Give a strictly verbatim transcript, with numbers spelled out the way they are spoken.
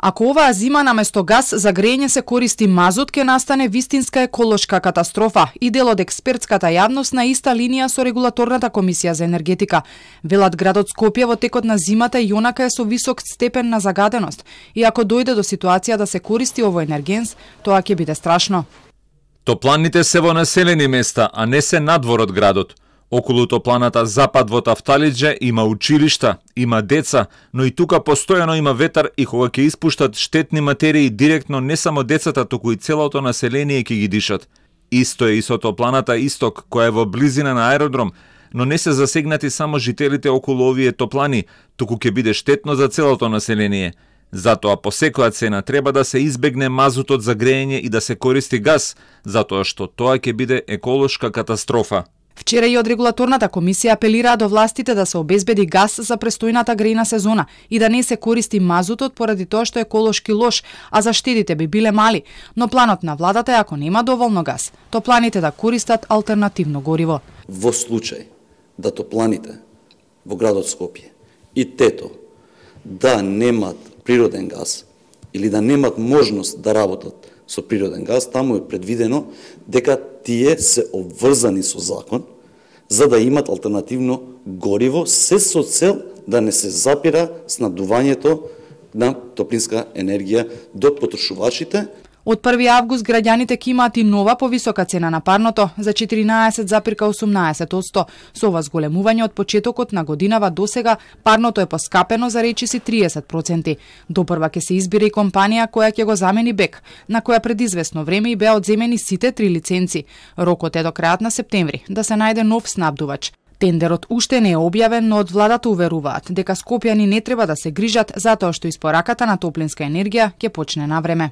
Ако оваа зима наместо газ за грејење се користи мазут, ќе настане вистинска еколошка катастрофа и дел од експертската јавност на иста линија со регулаторната комисија за енергетика. Велат градот Скопје во текот на зимата и онака е со висок степен на загаденост и ако дојде до ситуација да се користи овој енергенс, тоа ќе биде страшно. Топланите се во населени места, а не се надвор од градот. Околу топланата запад во Тафталиџе има училишта, има деца, но и тука постојано има ветар и кога ќе испуштат штетни материи директно не само децата, туку и целото население ќе ги дишат. Исто е и со топланата Исток, која е во близина на аеродром, но не се засегнати само жителите околу овие топлани, туку ќе биде штетно за целото население. Затоа по секоја цена треба да се избегне мазутот за грејење и да се користи газ, затоа што тоа ќе биде еколошка катастрофа. Вчера и од регулаторната комисија апелираа до властите да се обезбеди газ за престојната грејна сезона и да не се користи мазутот поради тоа што е еколошки лош, а заштедите би биле мали. Но планот на владата е ако нема доволно газ, топланите да користат алтернативно гориво. Во случај да топланите во градот Скопје и тето да немат природен газ или да немат можност да работат со природен газ, таму е предвидено дека тие се обврзани со закон за да имат алтернативно гориво, се со цел да не се запира снабдувањето на топлинска енергија до потрошувачите. Од први август граѓаните ќе имаат и нова повисока цена на парното за четиринаесет зарез осумнаесет одсто. Со ова зголемување од почетокот на годинава досега парното е поскапено за речиси триесет проценти. Допрва ќе се избира и компанија која ќе го замени БЕК, на која пред известно време и беа одземени сите три лиценци. Рокот е до крајот на септември да се најде нов снабдувач. Тендерот уште не е објавен, но од владата уверуваат дека скопјани не треба да се грижат затоа што испораката на топлинска енергија ќе почне на време.